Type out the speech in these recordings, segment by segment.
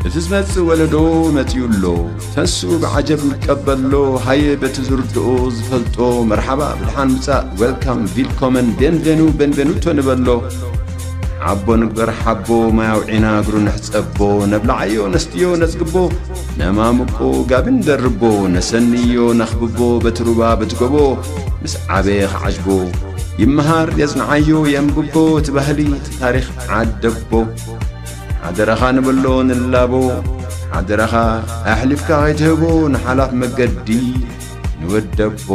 እቲ ዝመጽእ ወለዶ መጺኡ ኣሎ። ተስኡ ብዓጀብ ይቀበሎ። ሃየ በቲ ዝርድኦ ዝፈልጦ መርሓባ ብድሓን ምጻእ፣ ዌልካም፣ ቪልኮመን፣ ቤንቬኑ፣ ቤንቬኑቶ ንበሎ። ሓቦ ንግበር ሓቦ፣ ማይ ኣውዒና እግሩ ንሕጸቦ። ነብልዓዮ ነስትዮ ነጽግቦ፣ ነማምቆ ጋቢ ንደርቦ። ነሰንዮ ነኽብቦ በቲ ሩባ በቲ ጎቦ። ምስ ዓበየ ክዓጅቦ፣ ይመሃር የጽንዓዮ የንብቦ። እቲ ባህሊ እቲ ታሪኽ ዓደቦ። ሓደራኻ ንበሎ ንላቦ፣ ሓደራኻ ኣሕሊፍካ ከይትህቦ ንሓላፍ መገዲ ንወደቦ።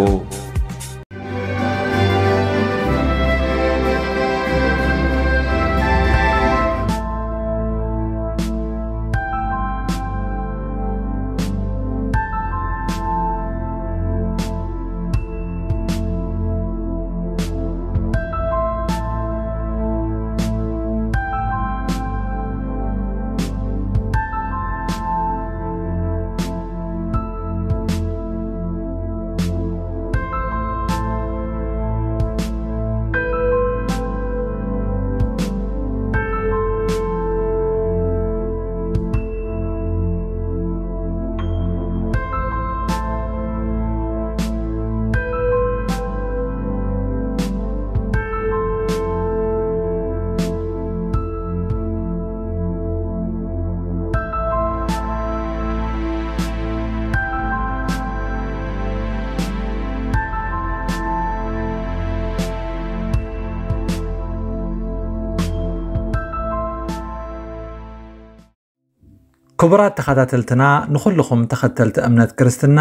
ክቡራት ተኸታተልትና፣ ንኹልኹም ተኸተልቲ እምነት ክርስትና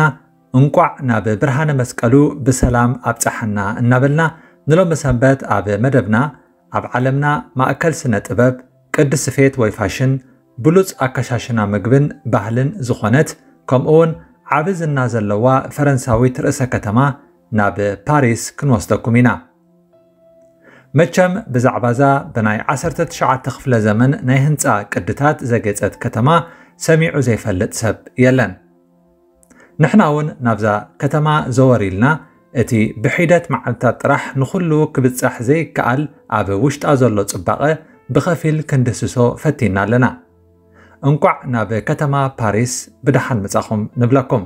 እንቋዕ ናብ ብርሃነ መስቀሉ ብሰላም ኣብጽሓና እናበልና፣ ንሎሚ ሰንበት ኣብ መደብና ኣብ ዓለምና ማእከል ስነ ጥበብ፣ ቅዲ ስፌት ወይ ፋሽን፣ ብሉጽ ኣከሻሽና ምግብን ባህልን ዝኾነት፣ ከምኡውን ዓቢ ዝና ዘለዋ ፈረንሳዊት ርእሰ ከተማ ናብ ፓሪስ ክንወስደኩም ኢና። መቸም ብዛዕባዛ ብናይ ዓሰርተ ትሽዓተ ክፍለ ዘመን ናይ ህንጻ ቅድታት ዘጌጸት ከተማ ሰሚዑ ዘይፈልጥ ሰብ የለን። ንሕና እውን ናብዛ ከተማ ዘወር ኢልና፣ እቲ ብሒደት መዓልታት ጥራሕ ንኹሉ ክብጻሕ ዘይከኣል ኣብ ውሽጣ ዘሎ ጽባቐ ብኸፊል ክንድህስሶ ፈቲና ኣለና። እንቋዕ ናብ ከተማ ፓሪስ ብደሓን መጻኹም ንብለኩም።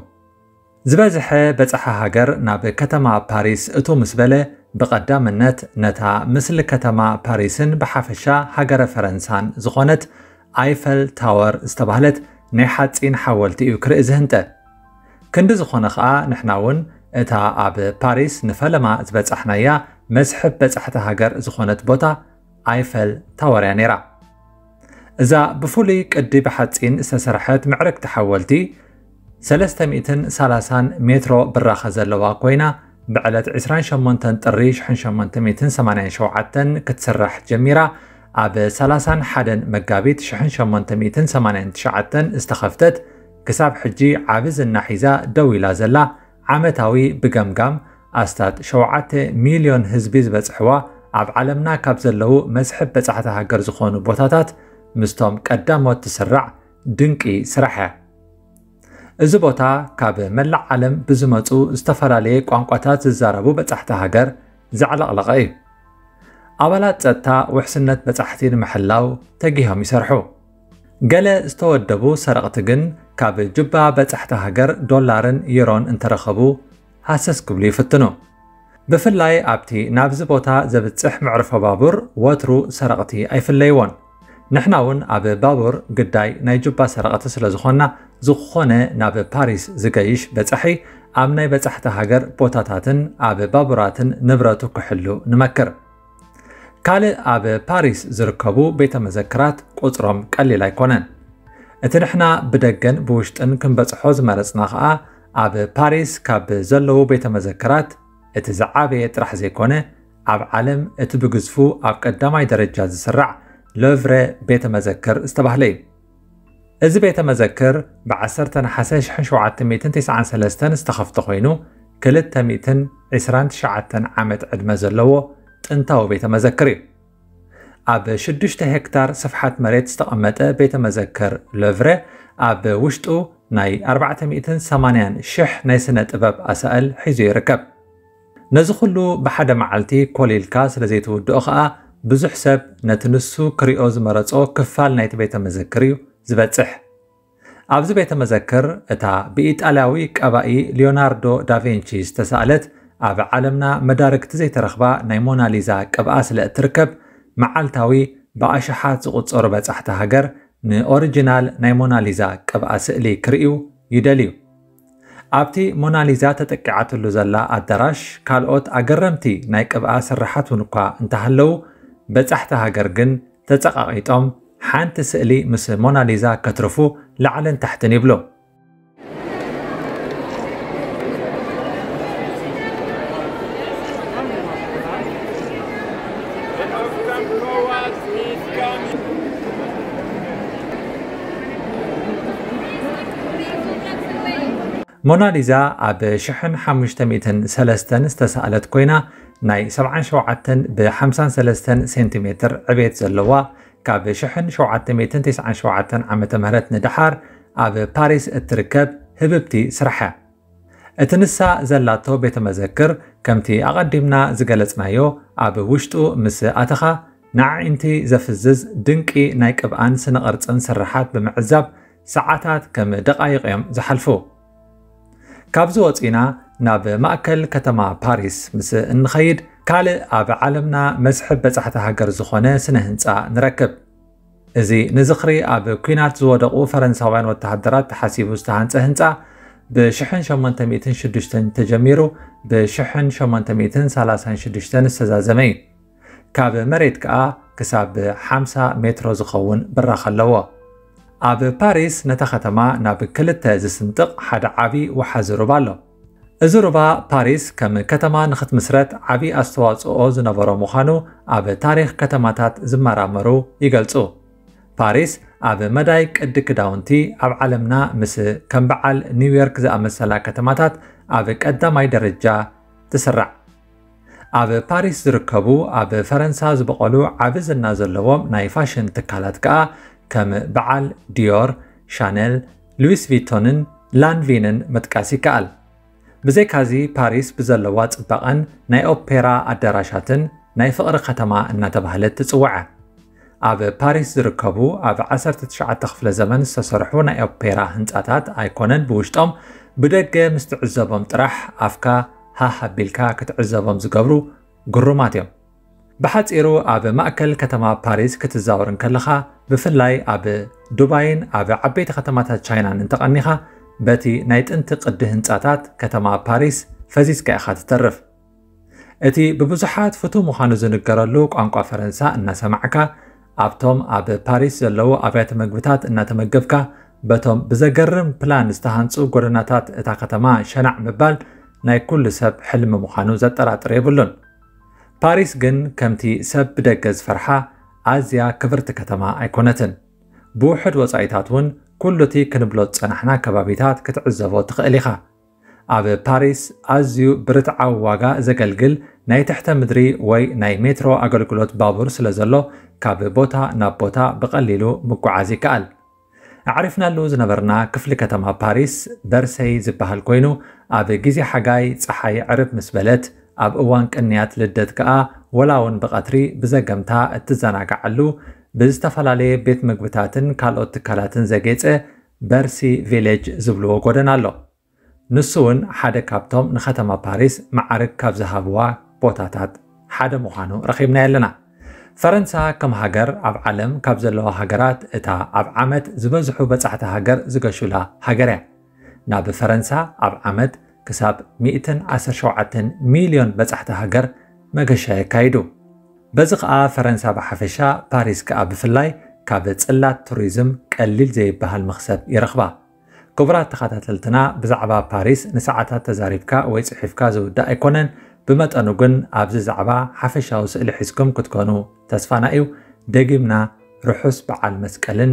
ዝበዝሐ በጻሒ ሃገር ናብ ከተማ ፓሪስ እቶ ምስ በለ፣ ብቐዳምነት ነታ ምስሊ ከተማ ፓሪስን ብሓፈሻ ሃገረ ፈረንሳን ዝኾነት ኣይፈል ታወር ዝተባህለት ናይ ሓጺን ሓወልቲ እዩ ክርኢ ዝህንጠ። ክንዲ ዝኾነ ኸኣ ንሕና እውን እታ ኣብ ፓሪስ ንፈለማ ዝበጻሕናያ መስሕብ በጻሕቲ ሃገር ዝኾነት ቦታ ኣይፈል ታወር እያ ነይራ። እዛ ብፍሉይ ቅዲ ብሓጺን ዝተሰርሐት ምዕርግቲ ሓወልቲ ሰለስተ ሚእትን ሰላሳን ሜትሮ ብራኸ ዘለዋ ኮይና፣ ብዕለት ዕስራን ሸሞንተን ጥሪ ሽሕን ሸሞንተ ሚእትን ሰማንያን ሸውዓተን ክትስራሕ ጀሚራ፣ ኣብ ሰላሳን ሓደን መጋቢት ሽሕን ሸሞንተ ሚእትን ሰማንያን ትሽዓተን ዝተኸፍተት፣ ክሳብ ሕጂ ዓቢ ዝና ሒዛ ደው ኢላ ዘላ፣ ዓመታዊ ብገምጋም ኣስታት ሸውዓተ ሚልዮን ህዝቢ ዝበጽሕዋ፣ ኣብ ዓለምና ካብ ዘለዉ መስሕብ በጻሕቲ ሃገር ዝኾኑ ቦታታት ምስቶም ቀዳሞት ትስራዕ ድንቂ ስራሕ እያ። እዚ ቦታ ካብ መላእ ዓለም ብዝመጹ ዝተፈላለየ ቋንቋታት ዝዛረቡ በጻሕቲ ሃገር ዘዕለቕለቐ እዩ። ኣባላት ጸጥታ ውሕስነት በጻሕቲ ንምሕላው ተጊሆም ይሰርሑ። ገለ ዝተወደቡ ሰረቕቲ ግን ካብ ጁባ በጻሕቲ ሃገር ዶላርን ዩሮን እንተረኸቡ ሃሰስ ክብሉ ይፍትኑ። ብፍላይ ኣብቲ ናብዚ ቦታ ዘብጽሕ መዕርፎ ባቡር ወትሩ ሰረቕቲ ኣይፍለይዎን። ንሕና እውን ኣብ ባቡር ግዳይ ናይ ጁባ ሰረቕቲ ስለ ዝኾንና፣ ዝኾነ ናብ ፓሪስ ዝገይሽ በጻሒ ኣብ ናይ በጻሕቲ ሃገር ቦታታትን ኣብ ባቡራትን ንብረቱ ክሕሉ ንመክር። ካልእ ኣብ ፓሪስ ዝርከቡ ቤተ መዘክራት ቁጽሮም ቀሊል ኣይኮነን። እቲ ንሕና ብደገን ብውሽጥን ክንበጽሖ ዝመረጽና ኸኣ፣ ኣብ ፓሪስ ካብ ዘለዉ ቤተ መዘክራት እቲ ዝዓበየ ጥራሕ ዘይኮነ፣ ኣብ ዓለም እቲ ብግዝፉ ኣብ ቀዳማይ ደረጃ ዝስራዕ ሎቭረ ቤተ መዘክር ዝተባህለ እዩ። እዚ ቤተ መዘክር ብ ዓሰርተ ነሓሰ ሽሕን ሸውዓተ ሚእትን ተስዓን ሰለስተን ዝተኸፍተ ኮይኑ፣ ክልተ ሚእትን ዕስራን ትሽዓተን ዓመት ዕድመ ዘለዎ ጥንታዊ ቤተ መዘክር እዩ። ኣብ ሽዱሽተ ሄክታር ስፍሓት መሬት ዝተቐመጠ ቤተ መዘክር ሎቭረ፣ ኣብ ውሽጡ ናይ ኣርባዕተ ሚእትን ሰማንያን ሽሕ ናይ ስነ ጥበብ ኣሳእል ሒዙ ይርከብ። ነዚ ኩሉ ብሓደ መዓልቲ ኮሊልካ ስለ ዘይትውድኦ ኸኣ፣ ብዙሕ ሰብ ነቲ ንሱ ክሪኦ ዝመረጾ ክፋል ናይቲ ቤተ መዘክር እዩ ዝበጽሕ። ኣብዚ ቤተ መዘክር፣ እታ ብኢጣልያዊ ቀባኢ ሊዮናርዶ ዳቬንቺ ዝተሳእለት፣ ኣብ ዓለምና መዳርግቲ ዘይተረኽባ ናይ ሞናሊዛ ቅብኣ ስለ እትርከብ፣ መዓልታዊ ብኣሽሓት ዝቑጸሩ በጻሕቲ ሃገር ንኦሪጂናል ናይ ሞናሊዛ ቅብኣ ስእሊ ክርእዩ ይደልዩ። ኣብቲ ሞናሊዛ ተጠቂዓትሉ ዘላ ኣዳራሽ፣ ካልኦት ኣገረምቲ ናይ ቅብኣ ስርሓት እውን እኳ እንተሃለዉ፣ በጻሕቲ ሃገር ግን ተጸቓቒጦም ሓንቲ ስእሊ ምስ ሞናሊዛ ከትርፉ ላዕልን ታሕትን ይብሉ። ሞናሊዛ ኣብ ሽሕን ሓሙሽተ ሚእትን ሰለስተን ዝተሳእለት ኮይና፣ ናይ ሰብዓን ሸውዓተን ብሓምሳን ሰለስተን ሴንቲሜትር ዕቤት ዘለዋ፣ ካብ ሽሕን ሸውዓተ ሚእትን ተስዓን ሸውዓተን ዓመተ ምህረት ንደሓር ኣብ ፓሪስ እትርከብ ህብብቲ ስራሕ እያ። እቲ ንሳ ዘላቶ ቤተ መዘክር፣ ከምቲ ኣቐዲምና ዝገለጽናዮ፣ ኣብ ውሽጡ ምስ ኣተኻ ንዓዒንቲ ዘፍዝዝ ድንቂ ናይ ቅብኣን ስነ ቅርጽን ስርሓት ብምዕዛብ ሰዓታት ከም ደቓይቕ እዮም ዝሓልፉ። ካብዚ ወጺና ናብ ማእከል ከተማ ፓሪስ ምስ እንኸይድ፣ ካልእ ኣብ ዓለምና መስሕብ በጻሕቲ ሃገር ዝኾነ ስነ ህንጻ ንረክብ። እዚ ንዝኽሪ ኣብ ኲናት ዝወደቑ ፈረንሳውያን ወተሃደራት ተሓሲቡ ዝተሃንጸ ህንጻ፣ ብ ሽሕን ሸሞንተ ሚእትን ሽዱሽተን ተጀሚሩ ብ ሽሕን ሸሞንተ ሚእትን ሰላሳን ሽዱሽተን ዝተዛዘመ እዩ። ካብ መሬት ከኣ ክሳብ ሓምሳ ሜትሮ ዝኸውን ብራኽ ኣለዎ። ኣብ ፓሪስ ነታ ከተማ ናብ ክልተ ዝስንጥቕ ሓደ ዓቢ ወሓዚ ሩባ ኣሎ። እዚ ሩባ ፓሪስ ከም ከተማ ንኽትምስረት ዓቢ ኣስተዋጽኦ ዝነበሮ ምዃኑ ኣብ ታሪኽ ከተማታት ዝመራመሩ ይገልጹ። ፓሪስ ኣብ መዳይ ቅዲ ክዳውንቲ ኣብ ዓለምና ምስ ከም በዓል ኒውዮርክ ዝኣመሰላ ከተማታት ኣብ ቀዳማይ ደረጃ ትስራዕ። ኣብ ፓሪስ ዝርከቡ ኣብ ፈረንሳ ዝበቖሉ ዓቢ ዝና ዘለዎም ናይ ፋሽን ትካላት ከኣ ከም በዓል ዲዮር፣ ሻነል፣ ሉዊስ ቪቶንን ላንቪንን ምጥቃስ ይከኣል። ብዘይካዚ ፓሪስ ብዘለዋ ጽባቐን ናይ ኦፔራ ኣዳራሻትን ናይ ፍቕሪ ከተማ እናተባህለት ትጽዋዕ። ኣብ ፓሪስ ዝርከቡ ኣብ ዓሰርተ ትሽዓተ ክፍለ ዘመን ዝተሰርሑ ናይ ኦፔራ ህንጻታት ኣይኮነን ብውሽጦም፣ ብደገ ምስ ትዕዘቦም ጥራሕ ኣፍካ ሃህ ኣቢልካ ክትዕዘቦም ዝገብሩ ግሩማት እዮም። ብሓጺሩ ኣብ ማእከል ከተማ ፓሪስ ክትዛወር እንከለኻ፣ ብፍላይ ኣብ ዱባይን ኣብ ዓበይቲ ከተማታት ቻይናን እንተቐኒኻ፣ በቲ ናይ ጥንቲ ቅዲ ህንጻታት ከተማ ፓሪስ ፈዚዝካ ኢኻ ትተርፍ። እቲ ብብዙሓት ፍቱው ምዃኑ ዝንገረሉ ቋንቋ ፈረንሳ እናሰማዕካ፣ ኣብቶም ኣብ ፓሪስ ዘለዉ ኣብያተ መግብታት እናተመገብካ፣ በቶም ብዘገርም ፕላን ዝተሃንጹ ጎደናታት እታ ከተማ ሸናዕ ምባል ናይ ኩሉ ሰብ ሕልሚ ምዃኑ ዘጠራጥር የብሉን። ፓሪስ ግን ከምቲ ሰብ ብደገ ዝፈርሓ ኣዝያ ክብርቲ ከተማ ኣይኮነትን። ብውሑድ ወጻኢታት እውን ኩሉ እቲ ክንብሎ ዝጸናሕና ከባቢታት ክትዕዘቦ ትኽእል ኢኻ። ኣብ ፓሪስ ኣዝዩ ብርትዓዊ ዋጋ ዘገልግል ናይ ትሕተ ምድሪ ወይ ናይ ሜትሮ ኣገልግሎት ባቡር ስለ ዘሎ፣ ካብ ቦታ ናብ ቦታ ብቐሊሉ ምጉዓዝ ይከኣል። ኣዕሪፍናሉ ዝነበርና ክፍሊ ከተማ ፓሪስ በርሰይ ዝበሃል ኮይኑ፣ ኣብ ግዜ ሓጋይ ጸሓይ ዕርብ ምስ በለት፣ ኣብ እዋን ቅንያት ልደት ከኣ ወላ እውን ብቐትሪ ብዘገምታ እትዘናግዓሉ፣ ብዝተፈላለየ ቤት ምግብታትን ካልኦት ትካላትን ዘጌጸ በርሲ ቪሌጅ ዝብልዎ ጎደና ኣሎ። ንሱ እውን ሓደ ካብቶም ንከተማ ፓሪስ መዓርግ ካብ ዝሃብዋ ቦታታት ሓደ ምዃኑ ረኺብናዮ ኣለና። ፈረንሳ ከም ሃገር ኣብ ዓለም ካብ ዘለዋ ሃገራት እታ ኣብ ዓመት ዝበዝሑ በጻሕቲ ሃገር ዝገሹላ ሃገር እያ። ናብ ፈረንሳ ኣብ ዓመት ክሳብ ሚእትን ዓሰርተ ሸውዓተን ሚልዮን በጻሕቲ ሃገር መገሻ የካይዱ። በዚ ኸኣ ፈረንሳ ብሓፈሻ፣ ፓሪስ ከኣ ብፍላይ ካብ ጽላት ቱሪዝም ቀሊል ዘይበሃል መኽሰብ ይረኽባ። ክቡራት ተኸታተልትና፣ ብዛዕባ ፓሪስ ንሰዓታት ተዛሪብካ ወይ ጽሒፍካ ዝውዳእ ኣይኮነን። ብመጠኑ ግን ኣብዚ ዛዕባ ሓፈሻዊ ስእሊ ሒዝኩም ክትኮኑ ተስፋና እዩ። ደጊምና ርሑስ በዓል መስቀልን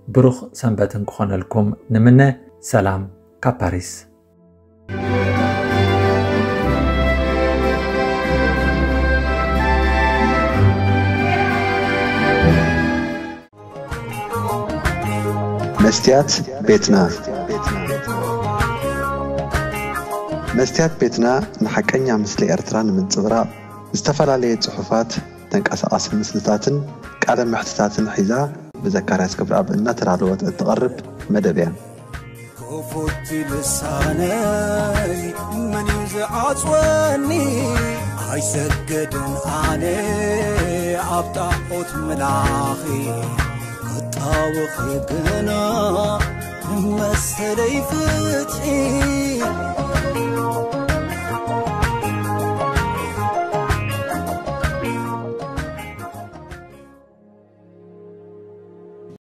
ብሩኽ ሰንበትን ክኾነልኩም ንምነ። ሰላም ካብ ፓሪስ። መስትያት ቤትና። መስትያት ቤትና ንሓቀኛ ምስሊ ኤርትራ ንምንጽብራቕ፣ ዝተፈላለየ ጽሑፋት፣ ተንቀሳቓሲ ምስልታትን ቃለ መሕትታትን ሒዛ ብዘካርያስ ገብረኣብ እናተዳለወት እትቐርብ መደብ እያ። ክፉት ልሳነይ መን እዩ ዝዓጽወኒ? ኣይሰግድን ኣነ ኣብ ጣዖት ምላኺ፣ ክጣወኺ ግና ንመሰለይ ፍትሒ።